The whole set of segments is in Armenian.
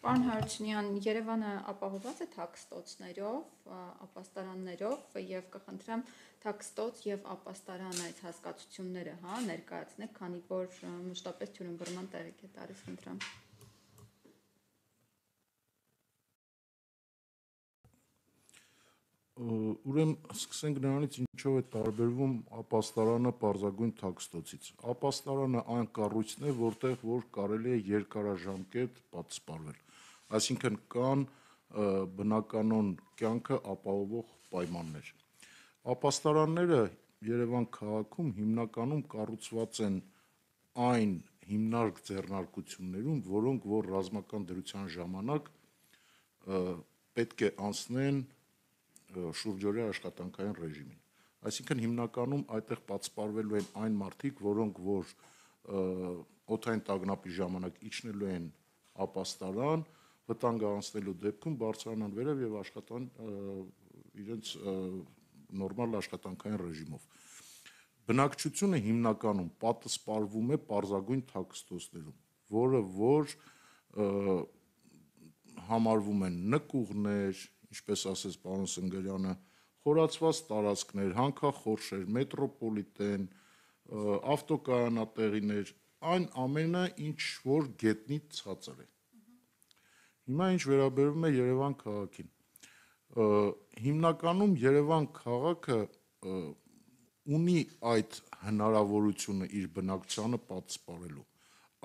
Պարոն Հարությունյան, Երևանը ապահոված է թաքստոցներով, ապաստարաններով եւ կխնդրեմ թաքստոց եւ ապաստարան այդ հասկացությունները, ներկայացնեք, քանի որ մշտապես թյուրըմբռնման տեղիք է տալիս, խնդրեմ։ Ուրեմն սկսենք նրանից, ինչով է տարբերվում ապաստարանը պարզագույն թաքստոցից։ Ապաստարանը այն կառույցն է, որտեղ որ կարելի է երկարաժամկետ պատսպարվել, այսինքն կան բնականon կյանքը ապահովող պայմաններ։ Ապաստարանները Երևան քաղաքում հիմնականում կառուցված են այն հիմնարկ ձեռնարկություններում, որոնք որ ռազմական դրության ժամանակ պետք է անցնեն շուրջօրյա աշխատանքային ռեժիմին։ Այսինքն հիմնականում այդտեղ պատսպարվելու են այն մարդիկ, որոնք որ օդային տագնապի ժամանակ իջնելու են ապաստարան, վտանգ անցնելու դեպքում բարձրանան վերև եւ աշխատան իրենց նորմալ աշխատանքային ռեժիմով։ Բնակչությունը հիմնականում պատսպարվում է պարզագույն թաքստոցներում, որը որ համարվում են նկուղներ, ինչպես ասեց պարոն Սնգերյանը, խորացված տարածքներ, հանքախորշեր, մետրոպոլիտեն, ավտոկայանատեղիներ, այն ամենը, ինչ որ գետնից ցածր է։ Հիմա ինչ վերաբերում է Երևան քաղաքին։ Հիմնականում Երևան քաղաքը ունի այդ հնարավորությունը իր բնակչությանը պատսպարելու։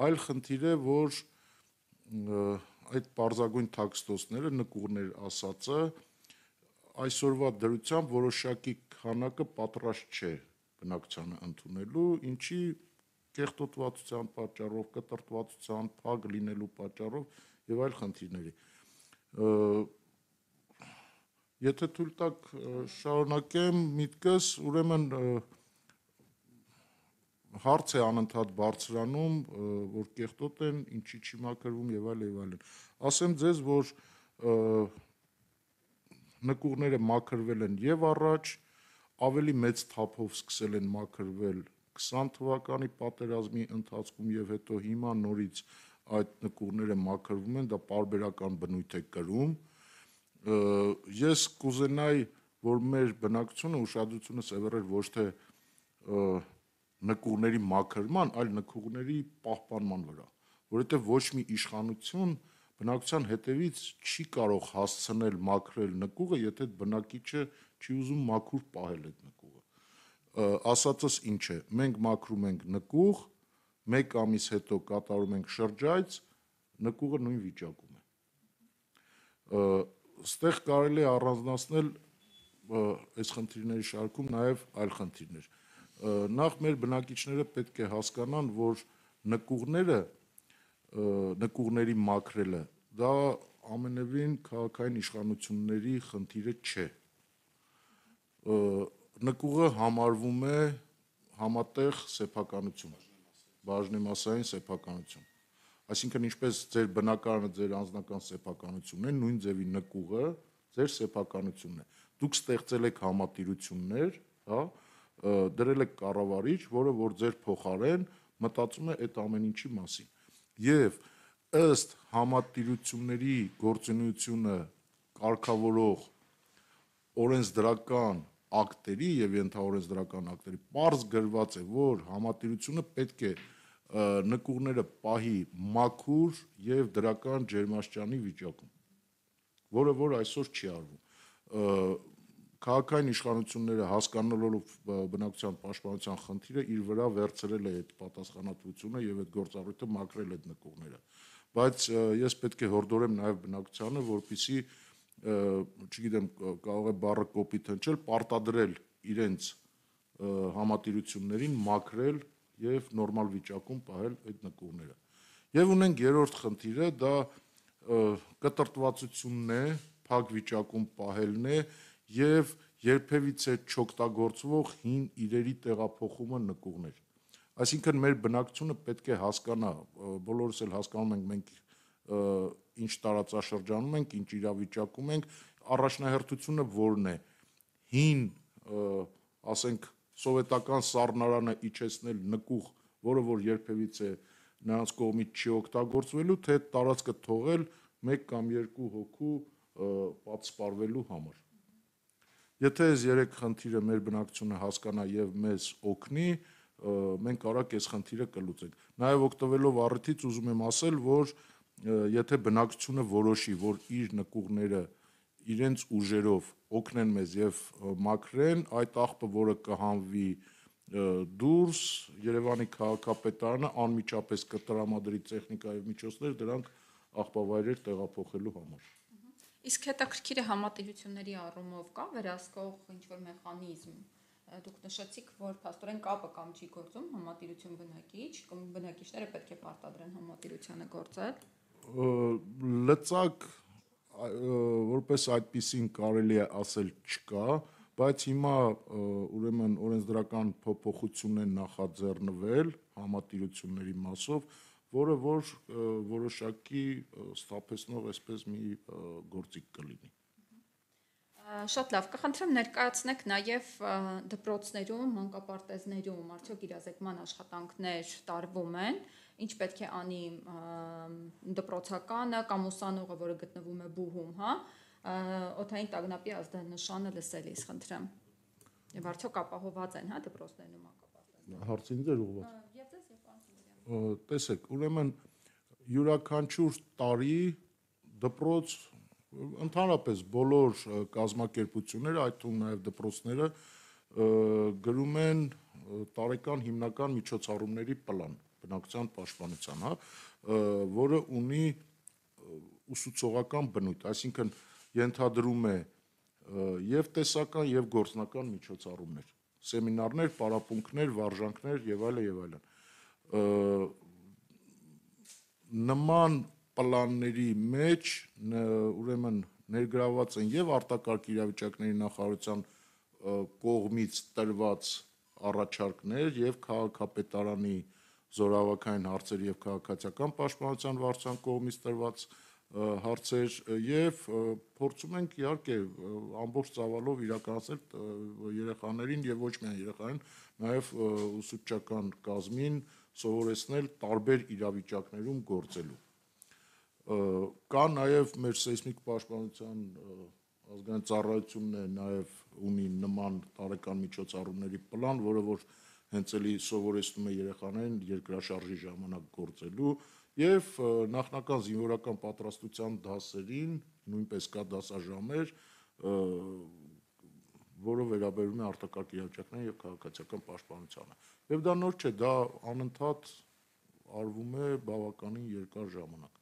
Այլ խնդիր է, որ այդ պարզագույն թաքստոցները, նկուղներ ասածը, այսօրվա դրությամբ որոշակի քանակը պատրաստ չէ բնակչությանը ընդունելու, ինչի կեղտոտվածության պատճառով, կտրտվածության, փակ լինելու պատճառով եւ այլ խնդիրների։ Եթե թույլ տաք շարունակեմ միտքս, ուրեմն հարց է անընդհատ բարձրանում, որ կեղտոտ են, ինչի չի մաքրվում եւ այլն։ Ասեմ ձեզ, որ նկուղները մաքրվել են եւ առաջ, ավելի մեծ թափով սկսել են մաքրվել 20 թվականի պատերազմի ընթացքում եւ հետո հիմա նորից այդ նկուղները մաքրվում են, դա պարբերական բնույթ է կրում։ Ես կուզենայի, որ մեր բնակչությունը ուշադրությունը սևեռեր ոչ թե նկուղների մաքրման, այլ նկուղների պահպանման վրա, որովհետեւ ոչ մի իշխանություն բնակչության հետևից չի կարող հասցնել մաքրել նկուղը, եթե բնակիչը չի ուզում մաքուր պահել այդ նկուղը։ Ասածս ինչ է, մենք մաքրում ենք նկուղ, 1 ամիս հետո կատարում ենք շրջայց, նկուղը նույն վիճակում է։ Ստեղ կարելի է առանձնացնել այս խնդիրների շարքում նաև այլ խնդիրներ։ Նախ մեր բնակիչները պետք է հասկանան, որ նկուղների մաքրելը դա ամենևին քաղաքային իշխանությունների խնդիրը չէ։ Նկուղը համարվում է համատեղ սեփականություն, բաժնեմասային սեփականություն։ Այսինքն ինչպես ձեր բնակարանը ձեր անձնական սեփականությունն է, նույն ձևի նկուղը ձեր սեփականությունն է։ Դուք ստեղծել եք համատիրություններ, դրել եք կառավարիչ, որը որ ձեր փոխարեն մտածում է այդ ամեն ինչի մասին։ Եվ ըստ համատիրությունների գործունեությունը կարգավորող օրենսդրական ակտերի եւ ենթաօրենսդրական ակտերի պարզ գրված է, որ համատիրությունը պետք է նկուղները պահի մաքուր եւ դրական ջերմաստիճանի վիճակում, որը որ այսօր չի արվում։ Քաղաքային իշխանությունները հասկանալով բնակչության պաշտպանության խնդիրը իր վրա վերցրել է այդ պատասխանատվությունը եւ այդ գործառույթը մաքրել այդ նկուղները։ Բայց ես պետք է հորդորեմ նաեւ բնակչությանը, որպեսզի չգիտեմ, կարող է բառը կոպիտ հնչել, պարտադրել իրենց համատիրություններին մաքրել եւ նորմալ վիճակում պահել այդ նկուղները։ Եվ ունենք երրորդ խնդիրը, դա կտրտվածությունն է, փակ վիճակում պահելն է եւ երբևիցե չօգտագործվող հին իրերի տեղափոխումը նկուղներ։ Այսինքն մեր բնակչությունը պետք է հասկանա, բոլորս էլ հասկանում ենք մենք ինչ տարածաշրջանում ենք, ինչ իրավիճակում ենք, առաջնահերթությունը որն է, հին, ասենք, սովետական սառնարանը իջեցնել նկուղ, որը որ երբևիցե նրանց կողմից չի օգտագործվելու, թե տարածքը թողել 1 կամ 2 հոգու պատսպարվելու համար։ Եթե այս 3 խնդիրը մեր բնակչությունը հասկանա եւ մեզ օգնի, մենք արագ այս խնդիրը կլուծենք։ Նաեւ օգտվելով առիթից ուզում եմ ասել, որ եթե բնակչությունը որոշի, որ իր նկուղները իրենց ուժերով օգնեն մեզ եւ մաքրեն, այդ աղբը, որը կհանվի դուրս, Երևանի քաղաքապետարանը անմիջապես կտրամադրի տեխնիկա եւ միջոցներ դրանք աղբավայրեր տեղափոխելու համար։ Իսկ հետաքրքիրը համատիրությունների առումով կա վերահսկող ինչ-որ մեխանիզմ։ Դուք նշեցիք, որ փաստորեն կապը կամ չի գործում համատիրություն բնակիչ, կամ բնակիչները պետք է պարտադրեն համատիրությանը գործել։ Լծակ որպես այդպեսին կարելի է ասել չկա, բայց հիմա ուրեմն օրենսդրական փոփոխություն են նախաձեռնվել համատիրությունների մասով, որը որ որոշակի սթափեցնող այսպես մի գործիք կլինի։ Շատ լավ, կխնդրեմ ներկայացնեք նաև դպրոցներում, մանկապարտեզներում արդյոք իրազեկման աշխատանքներ տարվում են, ինչ պետք է անի դպրոցականը կամ ուսանողը, որը գտնվում է բուհում, հա, օդային տագնապի ազդանշանը լսելիս, խնդրեմ։ Եվ արդյոք ապահոված են, հա, դպրոցներն ու մանկապարտեզները։ Հարցին ձեր ուղղված։ Եվ ձեզ եւ պարոն։ Տեսեք, ուրեմն յուրաքանչյուր տարի դպրոց ընդհանրապես բոլոր կազմակերպությունները, այդ թվում նաև դպրոցները գրում են տարեկան հիմնական միջոցառումների պլան բնակչության պաշտպանության, հա, որը ունի ուսուցողական բնույթ, այսինքն ենթադրում է եւ տեսական եւ գործնական միջոցառումներ, սեմինարներ, պարապմունքներ, վարժանքներ եւ այլն եւ այլն։ Նման պլանների մեջ ուրեմն ներգրաված են եւ արտակարգ իրավիճակների նախարարության կողմից տրված առաջարկներ եւ քաղաքապետարանի զորավարքային հարցեր եւ քաղաքացիական պաշտպանության վարչության կողմից տրված հարցեր եւ փորձում ենք իհարկե ամբողջ ծավալով իրականացնել երեխաներին եւ ոչ միայն երեխաներին, նաեւ ուսուցչական կազմին սովորեցնել տարբեր իրավիճակներում գործելու։ Կա նաև մեր սեյսմիկ պաշտպանության ազգային ծառայությունն է նաև ունի նման տարեկան միջոցառումների պլան, որը որ հենց էլի սովորեցնում է երեխաներին երկրաշարժի ժամանակ գործելու եւ նախնական զինվորական պատրաստության դասերին նույնպես կա դասաժամեր, որը վերաբերում է արտակարգ իրավիճակներին եւ քաղաքացիական պաշտպանությանը։ Եվ դա նոր չէ, դա անընդհատ արվում է բավականին երկար ժամանակ։